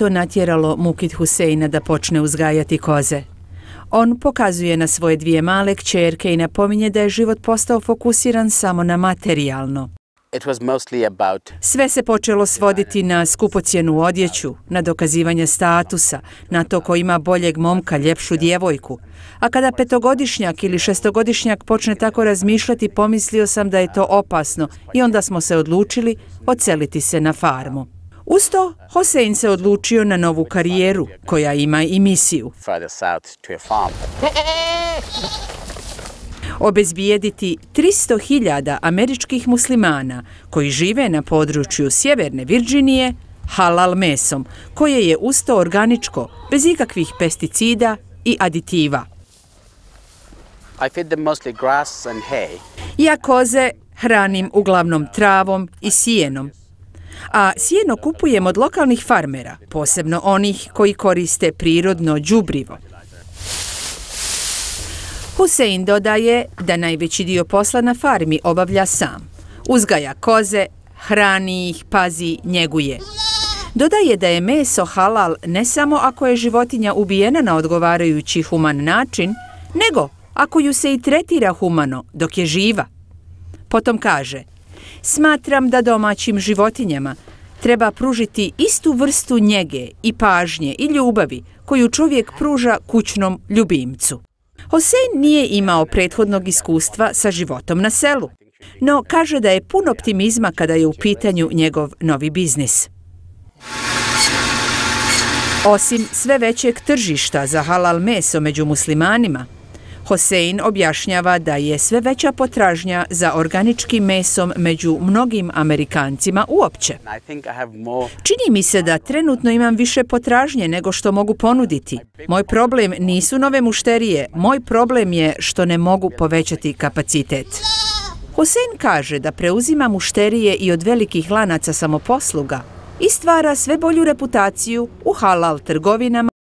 to natjeralo Mukid Huseina da počne uzgajati koze. On pokazuje na svoje dvije male kćerke i napominje da je život postao fokusiran samo na materijalno. Sve se počelo svoditi na skupocjenu odjeću, na dokazivanje statusa, na to ko ima boljeg momka, ljepšu djevojku. A kada petogodišnjak ili šestogodišnjak počne tako razmišljati, pomislio sam da je to opasno i onda smo se odlučili odseliti se na farmu. Uz to, Hosein se odlučio na novu karijeru, koja ima i misiju. Obezbijediti 300.000 američkih muslimana koji žive na području Sjeverne Virdžinije halal mesom, koje je usto organičko, bez ikakvih pesticida i aditiva. Ja koze hranim uglavnom travom i sijenom, a sjeno kupujem od lokalnih farmera, posebno onih koji koriste prirodno đubrivo. Husein dodaje da najveći dio posla na farmi obavlja sam. Uzgaja koze, hrani ih, pazi, njeguje. Dodaje da je meso halal ne samo ako je životinja ubijena na odgovarajući human način, nego ako ju se i tretira humano dok je živa. Potom kaže: smatram da domaćim životinjama treba pružiti istu vrstu njege i pažnje i ljubavi koju čovjek pruža kućnom ljubimcu. Hosein nije imao prethodnog iskustva sa životom na selu, no kaže da je pun optimizma kada je u pitanju njegov novi biznis. Osim sve većeg tržišta za halal meso među muslimanima, Hosein objašnjava da je sve veća potražnja za organičkim mesom među mnogim Amerikancima uopće. Čini mi se da trenutno imam više potražnje nego što mogu ponuditi. Moj problem nisu nove mušterije, moj problem je što ne mogu povećati kapacitet. Hosein kaže da preuzima mušterije i od velikih lanaca samoposluga i stvara sve bolju reputaciju u halal trgovinama